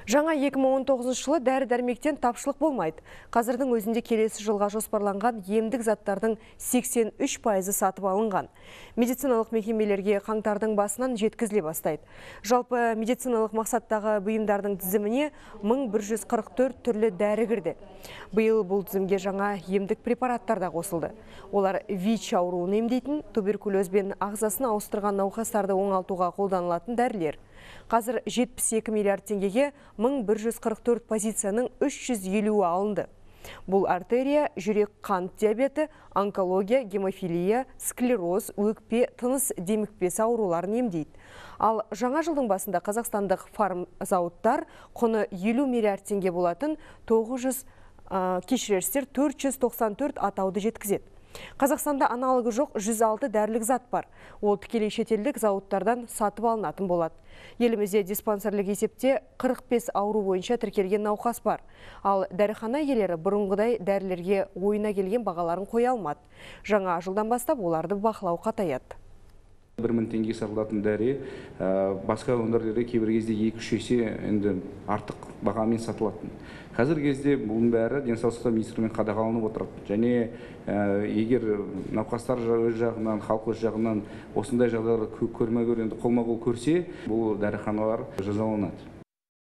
Жаңа 2019 жылы дәрі-дәрмектен тапшылық болмайды. Қазірдің өзінде келесі жылға жоспарланған емдік заттардың 83% сатып алынған. Медициналық мекемелерге қаңтардың басынан жеткізіле бастайды. Жалпы медициналық мақсаттағы бұйымдардың тізіміне 1144 түрлі дәрі кірді. Биыл бұл тізімге жаңа емдік препараттар да қосылды. Олар ВИЧ ауруын емдейтін, туберкулез бен ағзасын ауыстырған науқастарды оңалтуға қолданылатын дәрілер. Қазір 72 миллиард теңгеге 1144 позицияның 350 алынды. Бұл артерия, жүрек қант диабеті, онкология, гемофилия, склероз, өкпе, тыныс демікпесі ауруларын емдейді. Ал жаңа жылдың басында қазақстандық фармзауыттар құны 50 миллиард теңге болатын 494 атауды жеткізеді. Қазақстанда аналогы жоқ 106 дәрілік зат бар. Ол тікелей шетелдік зауыттардан сатып алынатын болады. Елімізде диспансерлік есепте 45 ауру бойынша тіркелген науқас бар. Ал дәріхана иелері бұрынғыдай дәрілерге ойына келген бағаларын қоя алмады. Жаңа жылдан бастап оларды бақылау қатаяды. 1000 теңге сатылатын дәрі басқа өңірлерде кейбір кезде 2-3 есе енді артық бағамен сатылатын. Қазір кезде бұның бәрі денсаулық сақтау министрлігімен қадағаланып отырады. Және егер науқастар өз жағынан, халық өз жағынан осындай жағдайларды қолма-қол көрсе, бұл дәріханалар жазаланады.